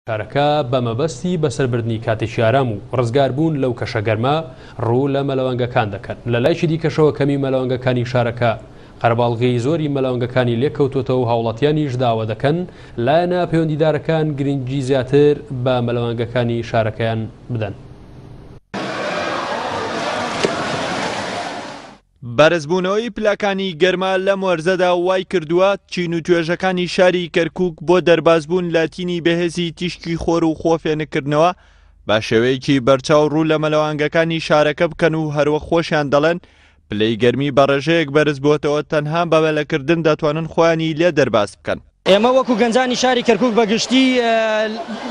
شارەکە بە مەبەستی بەسەربردنی کاتێکی ئارام و ڕزگاربوون لەو کەشە گەرمە ڕوو لە مەلەوانگەکان دەکەن. لە لایەکی دیکەشەوە کەمی مەلەوانگەکانی شارەکە قەرەباڵغی زۆری مەلەوانگەکانی لێکەوتووەتەوە و هاوڵاتیانیش داوا دەکەن لایەنە پەیوەندیدارەکان گرنگی زیاتر بە مەلەوانگەکانی شارەکەیان بدەن. بەرزبوونەوەی پلەکانی گەرما لەم وەرزەدا وای کردووە چین و توێژەکانی شاری کەرکووک بۆ دەربازبوون لە تینی بەهێزی تیشکی خۆر و خۆ فێنککردنەوە بە شێوەیەکی بەرچاو ڕوو لە مەلەوانگەکانی شارەکە بکەن و هەروەک خۆشیان دەڵێن پلەی گەرمی بە ڕێژەیەک بەرزبووەتەوە تەنها بە مەلەکردن دەتوانن خۆیانی لێ دەرباز بکەن. ئێمە وەکو گەنجانی شاری کەرکووک بە گشتی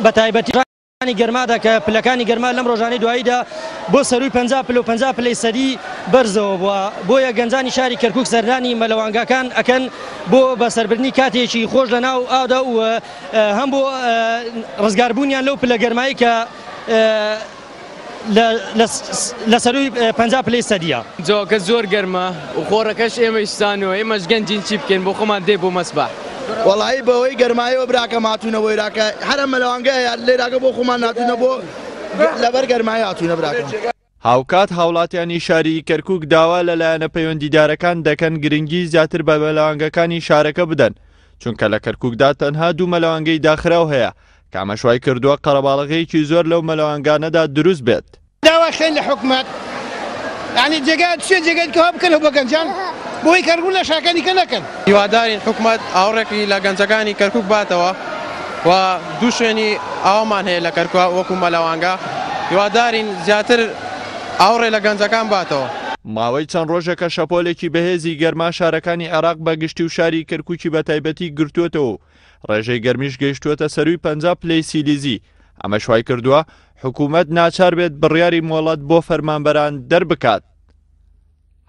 بە تایبەتی انی گەرمادا کە پلەکانی گەرما لەم ڕۆژانەی دواییدا بۆ سەرووی 50 پلە و 50 پلەی سەدی بەرزەوە بووە بۆیە گەنجانی شاری کەرکوک سەردانی مەلەوانگاکان ئەکەن بۆ بەسەربردنی کاتێکی خۆش لە ناو ئاودا و هەم بۆ ڕزگاربوونیان لەو پلە گەرمایی کە لە سەرووی 50 پلەی سەدیە. جەوەکە زۆر گەرمە و خۆڕەکەش ئێمەیش سانووە ئێمەش گەنجین چی بکەین بۆ خۆمان دێ بۆ مەسبەح. وەڵایی بەهۆی گەرمایەوە براکەم هاتوونە بۆ ئێراکە هەر ئەم مەلەوانگەیە لێراکە بۆ خۆمان هاتوونە بۆ لەبەر گەرمایی هاتوونە براکەم. هاوکات هاوڵاتیانی شاری کەرکوک داوا لە لایەنە پەیوەندیدارەکان دەکەن گرنگی زیاتر بە مەلەوانگەکانی شارەکە بدەن، چونکە لە کەرکوکدا تەنها دوو مەلەوانگەی داخراو هەیە کە ئەمەش وای کردووە قەرەباڵغییەکی زۆر لەو مەلەوانگانەدا دروست بێت. داوا خێن لە حکومەت یانی جێگا چیە جێگای کەوا بکەنەوە بۆ گەنجان بۆی کە ڕوو لە شاکانی کە نەکەن. هیوادارین حکومەت ئاوڕێکی لە گەنجەکانی کەرکوک باتەوە و دوو شوێنی ئاومان هەیە لە کەرکوک وەکو مەلەوانگە هیوادارین زیاتر ئاوڕێ لە گەنجەکان باتەوە. ماوەی چەند ڕۆژێکە شەپۆلێکی بەهێزی گەرما شارەکانی عێراق بە گشتی و شاری کەرکوکی بە تایبەتی گرتووەتەوە و ڕێژەی گەرمیش گەیشتووەتە سەرووی 50 پلەی سیلیزی، ئەمەش وایکردووە حکوومەت ناچار بێت بڕیاری مۆڵەت بۆ فەرمانبەران دەربکات.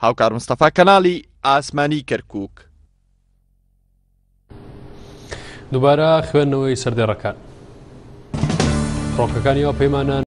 هاوکار مستەفا کەناڵی ئاسمانی کەرکوک. دووبارە خوێندنەوەی سەردێڕەکان. فڕۆکەکانی هاوپەیمانان.